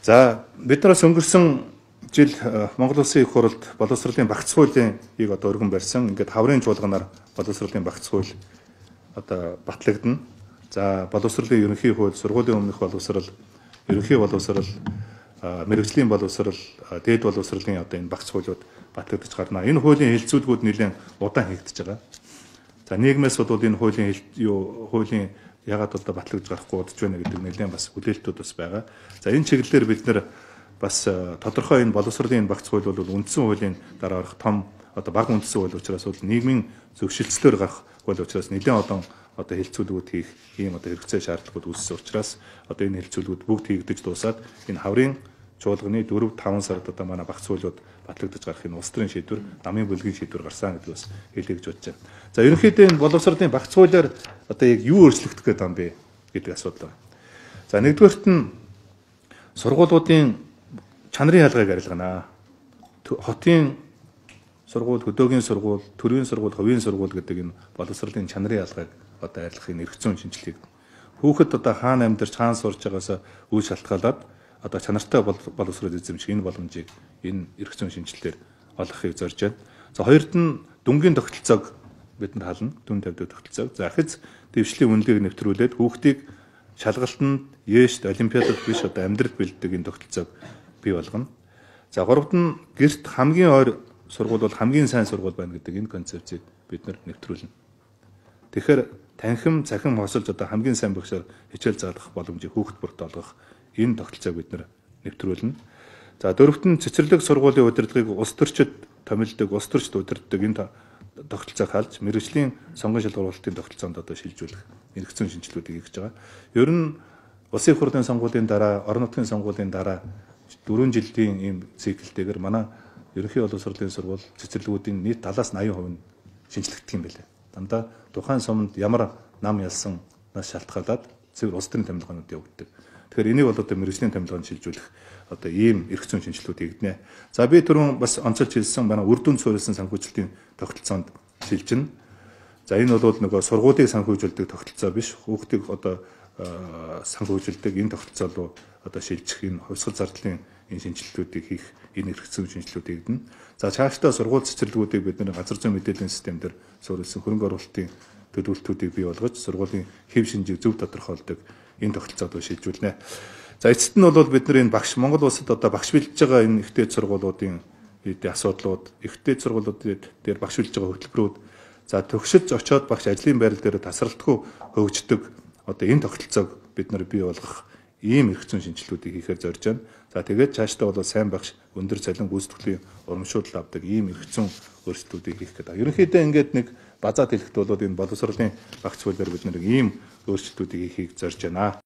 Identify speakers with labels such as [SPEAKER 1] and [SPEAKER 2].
[SPEAKER 1] За бид нараас өнгөрсөн жил Монгол Улсын их хурлд боловсролын багц хуулийн одоо өргөн барьсан. Ингээд хаврын чуулганаар боловсролын багц хууль одоо батлагдана. За боловсролын ерөнхий хууль, сургуулийн өмнөх боловсрол, ерөнхий боловсрол, мэргэжлийн боловсрол, дээд боловсролын одоо энэ багц хуулиуд батлагдаж гарна. Энэ хуулийн хэлэлцүүлгүүд нэлээд удаан хийгдэж байгаа. За нийгмээс бол энэ хуулийн ягаад одоо батлагдаж гарахгүй удаж байна гэдэг нэлээд бас хүлээлтүүд бас байгаа. За энэ чиглэлээр бид нэр бас тодорхой энэ боловсролын багц хууль бол үндсэн хуулийн дараа орох том одоо бага үндсэн хууль учраас бол нийгмийн зөвшөлтслөөр гарах хууль учраас нэлээд одоо хэлэлцүүлгүүд хийх ийм одоо хэрэгцээ шаардлагууд үүссэн учраас одоо энэ хэлэлцүүлгүүд бүгд хийгдэж дуусаад энэ хаврын чуулганы 4-5 сард одоо манай багц хуулиуд батлагдаж гарах энэ улс төрийн шийдвэр, намын бүлгийн шийдвэр гарсан гэдэг бас хэлье гэж бодож байна. За ерөнхийдөө энэ боловсролын багц хуулиар одоо яг юу өөрчлөгдөх гээд байгаа юм бэ гэдэг асуудал байна. За нэгдүгээрт нь сургуулиудын чанарын ялгааг арилгана. Хотын сургууль, хөдөөгийн сургууль, төрийн сургууль, хувийн сургууль гэдэг энэ боловсролын чанарын ялгааг одоо арилгахын эрх зүйн шинжилгээг хүүхэд одоо хаана амьдарч хаана сурж байгаасаа үйл шалтгаалаад одоо чанартай боловсрол эзэмших энэ боломжийг энэ эрх зүйн шинжилгээр олгохыг зорж байна. За хоёрт нь дүнгийн тогтолцоог бид нар хална, дүн тавьдаг тогтолцоог. За ахиц дэвшлийн үнэлгээг нэвтрүүлээд хүүхдийг шалгалтанд, ЕШ-т, олимпиадад биш одоо амьдралд бэлддэг энэ тогтолцоог бий болгоно. За гуравт нь гэрт хамгийн ойр сургууль бол хамгийн сайн сургууль байна гэдэг энэ концепцийг бид нар нэвтрүүлнэ. Тэгэхээр танхим, цахим хосолж одоо хамгийн сайн багшаар хичээл заалгах боломжийг хүүхэд бүрт олгох энэ тогтолцоог бид нар нэвтрүүлнэ. За дөрөвт нь цэцэрлэг сургуулийн удирдлагыг улс төрчид томилдог, улс төрчид удирддаг энэ тогтолцоог халж мэргэжлийн сонгон шалгуулалтын тогтолцоонд одоо шилжүүлэх эрх зүйн шинжилгэүүдийг хийж байгаа. Ер нь улсын их хурлын сонгуулийн дараа, орон нутгийн сонгуулийн дараа 4 жилийн ийм циклтэйгээр манай ерөнхий боловсролын сургууль цэцэрлэгүүдийн нийт 70-80% нь шинжлэгдэх юм байлээ. Дандаа тухайн суманд ямар нам ялсан нас шалтгаалаад цэвэр улс төрийн томилгоонууд явагддаг. Тэгэхээр энийг бол одоо мэргэжлийн томилгоонд шилжүүлэх одоо ийм эрх зүйн шинжилгүүд хийгднэ. За би түрүүн бас онцолж хэлсэн манай үр дүнд суурилсан санхүүжилтийн тогтолцоонд шилжинэ. За энэ бол нөгөө сургуулийг санхүүжүүлдэг тогтолцоо биш. Хүүхдийг одоо санхүүжилдэг энэ тогтолцоо руу одоо шилжих энэ хувьсгал зардлын энэ шинжилгэүүдийг хийх энэ эрх зүйн шинжилгүүд хийгдэнэ. За цаашдаа сургууль цэцэрлэгүүдийг бид нэр газар зүйн мэдээллийн системээр суурилсан хөрөнгө оруулалтын төлөвлөлтүүдийг бий болгож сургуулийн хэв шинжийг зөв тодорхойлдог энэ тогтолцоод шилжүүлнэ. За эцэст нь бол бид нар энэ багш Монгол улсад одоо багш бэлдэж байгаа энэ ихтэй сургуулиудын асуудлууд, ихтэй сургуулиуд дээр багш бэлдэж байгаа хөтөлбөрүүд за төгсөж очиод багш ажлын байрал дээр тасралтгүй хөгждөг одоо энэ тогтолцоог бид нар бий болгох ийм эрх зүйн шинжилгүүдийг хийхээр зорж байна. За тэгээд цаашдаа бол сайн багш өндөр цалин гүйцэтгэлийн урамшуулал авдаг ийм эрх зүйн өөрчлөлтүүдийг хийх гэдэг. Ерөнхийдөө ингээд нэг базаад хэлэхэд бол энэ боловсролын багц хуулиар бид нэг ийм өөрчлөлтүүдийг хийхийг зорж байна.